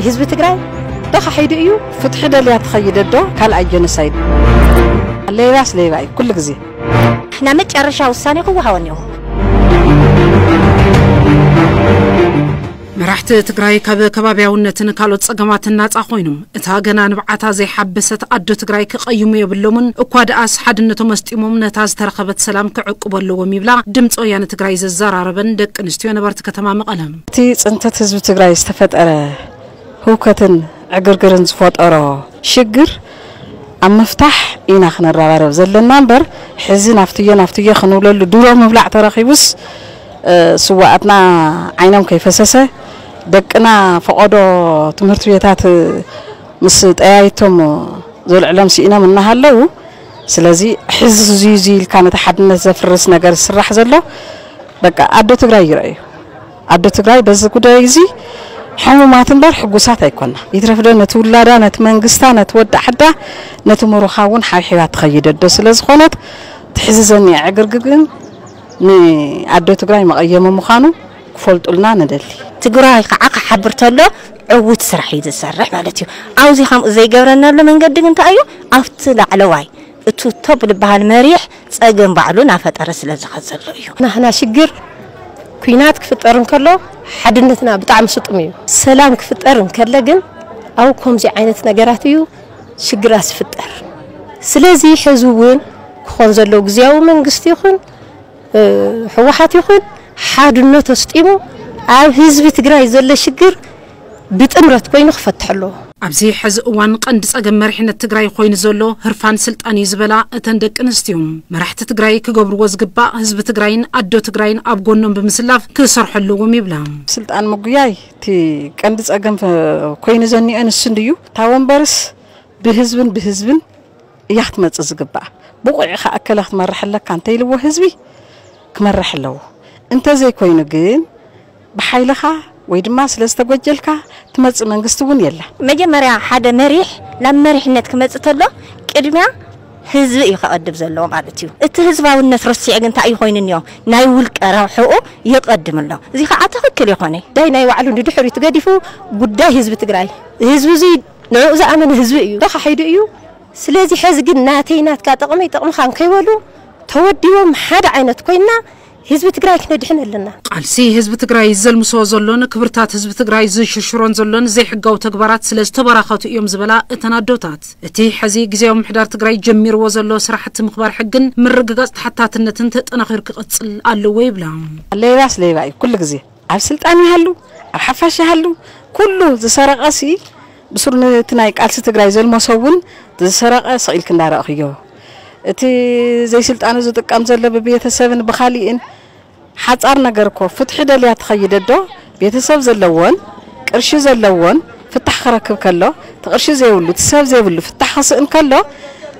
ህዝቢ ትግራይ ተኻሒዱ እዩ። ፍትሒ ደልያ ትኸይድ ዶ ካልኣይ ጀኖሳይድ? ሌባስ ሌባ እዩ ኩሉ ግዜ። ንሕና መጨረሻ ውሳኔ ክወሃቦ እኒኦ። መራሕቲ ትግራይ ካብ ከባብያውነትን ካልኦት ጸገማትን ናጻ ኮይኖም እታ ገና ንብዓታ ዘይሓበሰት ኣዶ ትግራይ ክቐይሙ የብሎምን። እኳ ደኣስ ሓድነቶም ኣስጢሞም ነታ ዝተረኸበት ሰላም ክዕቅቡ ኣለዎም ይብላ ድምፂ ወያነ ትግራይ ዘዘራረበን ደቂ ኣንስትዮ ነበርቲ ከተማ መቐለ። እቲ ጽንተት ህዝቢ ትግራይ ዝተፈጠረ ህውከትን ዕግርግርን ዝፈጠሮ ሽግር ኣብ ምፍታሕ ኢና ክንረባረብ ዘለና እምበር፣ ሕዚ ናፍትዮ ናፍትዮ ክንብለሉ ድሮ ምብላዕ ተረኺቡስ፣ ስዋኣትና ዓይኖም ከይፈሰሰ፣ ደቅና ፈቐዶ ትምህርቲ ቤታት ምስ ጠያይቶም ዘልዕሎም ስኢኖም እናሃለዉ፣ ስለዚ ሕዚ እዚ እዚ ኢልካ ነቲ ሓድነት ዘፍርስ ነገር ዝስራሕ ዘሎ በቃ ኣዶ ትግራይ ይረኣዩ። ኣዶ ትግራይ በዚ ጉዳይ እዚ ሕሙማት እምበር ሕጉሳት ኣይኮና። ይትረፍ ዶ ነቲ ውላዳ፣ ነቲ መንግስታ፣ ነቲ ወዲ ዓዳ፣ ነቲ ምሩኻ እውን ሓብሒባ ትኸይድ ኣዶ ስለ ዝኾነት፣ ትሕዚ ዘኒኣ ዕግርግር ግን ንኣዶ ትግራይ መቐየሚ ምዃኑ ክፈልጡልና ንደሊ። ትግራይ ከዓ ክሓብር ተሎ ዕውት ስራሕ እዩ ዝሰርሕ ማለት እዩ። ኣብዚ ከምኡ ዘይገብረናሉ መንገዲ ግን እንታይ እዩ? ኣብቲ ላዕለዋይ እቲ ቶብ ዝበሃል መሪሕ ፀገም ባዕሉ እናፈጠረ ስለ ዝኸ ዘሎ እዩ። ናህና ሽግር ኩናት ክፍጠር እንከሎ ሓድነትና ብጣዕሚ ስጡም እዩ። ሰላም ክፍጠር እንከለ ግን ኣብ ከምዚ ዓይነት ነገራት እዩ ሽግራት ዝፍጠር። ስለዚ ሕዚ እውን ክኾን ዘለዎ ግዝያዊ መንግስቲ ይኹን ህወሓት ይኹን ሓድነት ኣስጢሙ ኣብ ህዝቢ ትግራይ ዘሎ ሽግር ብጥምረት ኮይኑ ክፈትሕ ኣለዎ። ኣብዚ ሕዚ እዋን ቀንዲ ጸገም መሪሕነት ትግራይ ኮይኑ ዘሎ ህርፋን ስልጣን እዩ ዝበላ እተን ደቂ ኣንስትዮ፣ መራሕቲ ትግራይ ክገብርዎ ዝግባእ ህዝቢ ትግራይን ኣዶ ትግራይን ኣብ ጎኖም ብምስላፍ ክሰርሑ ኣለዎም ይብላ። ስልጣን ምጉያይ እቲ ቀንዲ ጸገም ኮይኑ ዘኒኦ ንሱ እንድዩ። እታ ወንበርስ ብህዝብን ብህዝብን እያ ክትመጽእ ዝግባኣ። ብቑዕ ኢኻ እከለ ክትመርሕ ኣለካ እንተኢልዎ ህዝቢ ክመርሕ ኣለዎ። እንተዘይኮይኑ ግን ብሓይልኻ ወይ ድማ ስለ ዝተጎጀልካ ትመጽእ መንግስቲ እውን የላ። መጀመርያ ሓደ መሪሕ ናብ መሪሕነት ክመጽእ ተሎ ቅድሚያ ህዝቢ እዩ ከቐድም ዘለዎ ማለት እዩ። እቲ ህዝባውነት ረሲዑ ግን እንታይ እዩ ኮይኑ እኒኦ? ናይ ውልቀ ረብሕኡ ይቐድም ኣሎ። እዚ ከዓ ትኽክል ይኾነ። ጉዳይ ናይ ባዕሉ ንድሕሪት ገዲፉ ጉዳይ ህዝቢ ትግራይ፣ ህዝቢ እዚ ንዕኡ ዝኣመነ ህዝቢ እዩ ተኻሒዱ እዩ። ስለዚ ሕዚ ግን ናተይ ናትካ ጥቕመይ ጥቕምኻን ከይበሉ ተወዲቦም ሓደ ዓይነት ኮይንና ህዝቢ ትግራይ ክነድሕን ኣለና። ቃልሲ ህዝቢ ትግራይ ዘልምሶ ዘሎን ክብርታት ህዝቢ ትግራይ ዝሽርሽሮን ዘሎን ዘይሕጋዊ ተግባራት ስለ ዝተበራኸቱ እዮም ዝበላ እተን ኣዶታት፣ እቲ ሕዚ ግዝያዊ ምምሕዳር ትግራይ ጀሚርዎ ዘሎ ስራሕቲ ምኽባር ሕግን ምርግጋፅ ተሓታትነትን ተጠናኺሩ ክቕፅል ኣለዎ ይብላ። ሌባስ ሌባ እዩ ኩሉ ግዜ። ኣብ ስልጣን ይሃሉ፣ ኣብ ሓፋሽ ይሃሉ፣ ኩሉ ዝሰረቐ ሲ ብሱር ነቲ ናይ ቃልሲ ትግራይ ዘልመሶ እውን ዝሰረቐ ስቕ ኢልክ እንዳረእኽዮ፣ እቲ ዘይስልጣኑ ዝጥቀም ዘሎ ብቤተሰብን ብኻሊእን ሓፃር ነገር እኮ ፍትሒ ደልያ ትኸይድ ኣዶ ቤተሰብ ዘለዎን ቅርሺ ዘለዎን ፍታሕ ክረክብ ከሎ እቲ ቅርሺ ዘይብሉ እቲ ሰብ ዘይብሉ ፍታሕ ክስእን ከሎ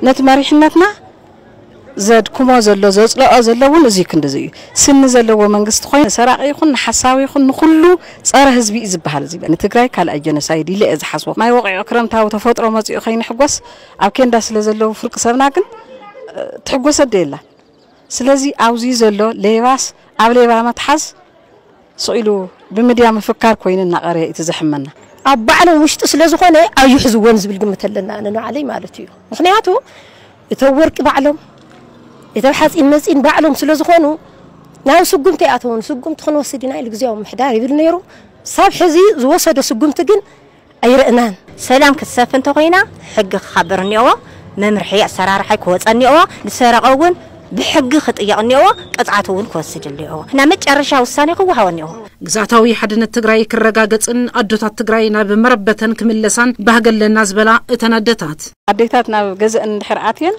ነቲ መሪሕነትና ዘድክሞ ዘሎ ዘፅልኦ ዘሎ እውን እዚ ክንድዚ እዩ። ስኒ ዘለዎ መንግስቲ ኮይኑ ንሰራቂ ይኹን ንሓሳዊ ይኹን ንኩሉ ፀረ ህዝቢ እዩ ዝበሃል። እዚ ንትግራይ ካልኣይ ጀኖሳይድ ኢለ እየ ዝሓስቦ። ማይ ወቂዑ ክረምታዊ ተፈጥሮ መፂኡ ከይንሕጎስ ኣብ ኬንዳ ስለ ዘለዉ ፍርቂ ሰብና ግን ትሕጎሰ ዶ የላ። ስለዚ ኣብዚ ዘሎ ሌባስ ኣብ ሌባ መትሓዝ ስቕ ኢሉ ብምድያ ምፍካር ኮይኑ እናቐረየ እቲ ዘሕመና። ኣብ ባዕሎም ውሽጢ ስለ ዝኾነ ኣዩሕዝዎን ዝብል ግምት ኣለና ኣነ ንባዕለይ ማለት እዩ። ምኽንያቱ እቶም ወርቂ ባዕሎም እቶም ሓፂን መፂን ባዕሎም ስለ ዝኾኑ ናብ ስጉምቲ ኣይኣተውን። ስጉምቲ ክንወስድ ኢና ኢሉ ግዝያዊ ምምሕዳር ይብል ነይሩ። ሳብ ሕዚ ዝወሰዶ ስጉምቲ ግን ኣይረእናን። ሰላም ክትሰፍን እንተኾይና ሕጊ ክኸብር እኒኦዎ፣ መምርሒ ኣሰራርሓ ክወፀ እኒኦዎ፣ ዝሰረቐ እውን ብሕጊ ክጥየቕ እኒኦዎ፣ ቅፅዓት እውን ክወስድ እኒኦዎ። ናብ መጨረሻ ውሳኔ ክወሃቦ እኒኦዎ። ግዝኣታዊ ሓድነት ትግራይ ክረጋገፅን ኣዶታት ትግራይ ናብ መረበተን ክምለሳን ባህጊ ኣለና ዝበላ እተን ኣደታት፣ ኣዴታት ናብ ገዘእን እንድሕር ኣትየን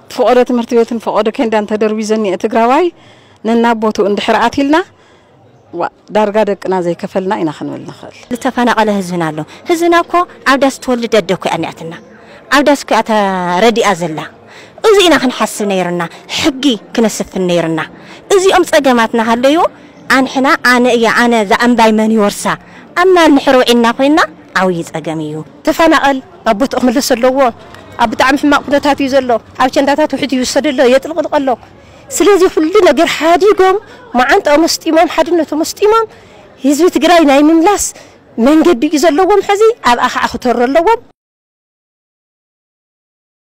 እቲ ፈቐዶ ትምህርቲ ቤትን ፈቐዶ ኬንዳን ተደርቢዘ እኒአ ትግራዋይ ነናብ ቦትኡ እንድሕር ኣትይልና ዋ ዳርጋ ደቅና ዘይከፈልና ኢና ክንብል ንኽእል። ዝተፈናቐለ ህዝብና ኣሎ። ህዝብና እኮ ኣብ ዳስ ትወልድ ኣደ እኮ እያ እኒኣትና። ኣብ ዳስ እኮ እያ ተረዲኣ ዘላ። እዚ ኢና ክንሓስብ ነይርና። ሕጊ ክነስፍን ነይርና። እዚኦም ፀገማት እናሃለዩ ኣንሕና ኣነ እየ ኣነ እዛ እምባይ መን ይወርሳ ኣብ ማል ንሕር ውዒልና ኮይንና ዓብዪ ፀገም እዩ። ተፈናቐል ኣብ ቦትኡ ክምለስ ኣለዎ። ኣብ ብጣዕሚ ሕማቕ ኩነታት እዩ ዘሎ። ኣብ ቸንዳታት ውሕጅ ይውሰድ ኣሎ፣ የጥልቕልቕ ኣሎ። ስለዚ ኩሉ ነገር ሓዲጎም መዓንጥኦም ኣስጢሞም ሓድነቶም ኣስጢሞም ህዝቢ ትግራይ ናይ ምምላስ መንገዲ እዩ ዘለዎም። ሕዚ ኣብኣ ከዓ ክተሩ ኣለዎም።